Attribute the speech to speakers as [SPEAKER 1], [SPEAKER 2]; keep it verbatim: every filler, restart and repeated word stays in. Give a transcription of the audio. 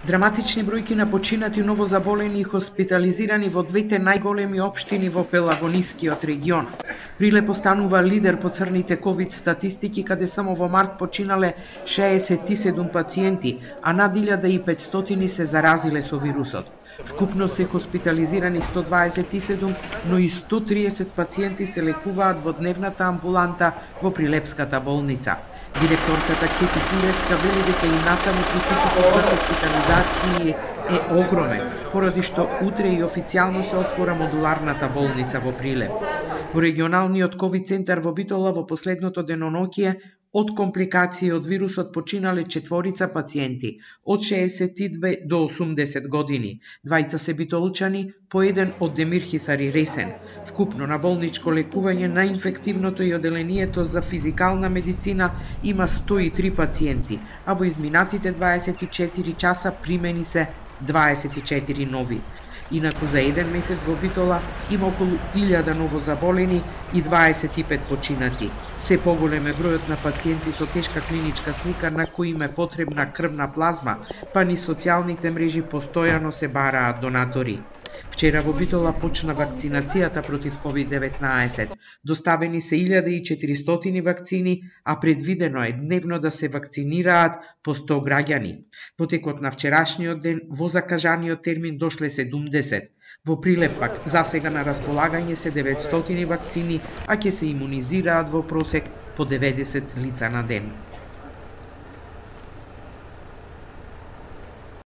[SPEAKER 1] Драматични бројки на починати новозаболени и хоспитализирани во двете најголеми општини во Пелагонискиот регион. Прилеп останува лидер по црните ковид статистики, каде само во март починале шеесет и седум пациенти, а над илјада и петстотини се заразиле со вирусот. Вкупно се хоспитализирани сто дваесет и седум, но и сто триесет пациенти се лекуваат во дневната амбуланта во Прилепската болница. Директорката Кети Смилевска вели дека и натаму притисокот за хоспитализации е огромен, поради што утре и официјално се отвора модуларната болница во Прилеп. Во регионалниот ковид центар во Битола во последното деноноќие од компликации од вирусот починале четворица пациенти од шеесет и две до осумдесет години. Двајца се битолчани, по еден од Демир Хисари Ресен. Вкупно на болничко лекување на инфективното и оделението за физикална медицина има сто и три пациенти, а во изминатите дваесет и четири часа примени се дваесет и четири нови. Инаку за еден месец во Битола има околу илјада новозаболени и дваесет и пет починати. Се поголем е бројот на пациенти со тешка клиничка слика на кои им е потребна крвна плазма, па ни социјалните мрежи постојано се бараат донатори. Вчера во Битола почна вакцинацијата против ковид деветнаесет. Доставени се илјада и четиристотини вакцини, а предвидено е дневно да се вакцинираат по сто граѓани. Во текот на вчерашниот ден во закажаниот термин дошле седумдесет. Во Прилеп пак засега на располагање се деветстотини вакцини, а ќе се имунизираат во просек по деветдесет лица на ден.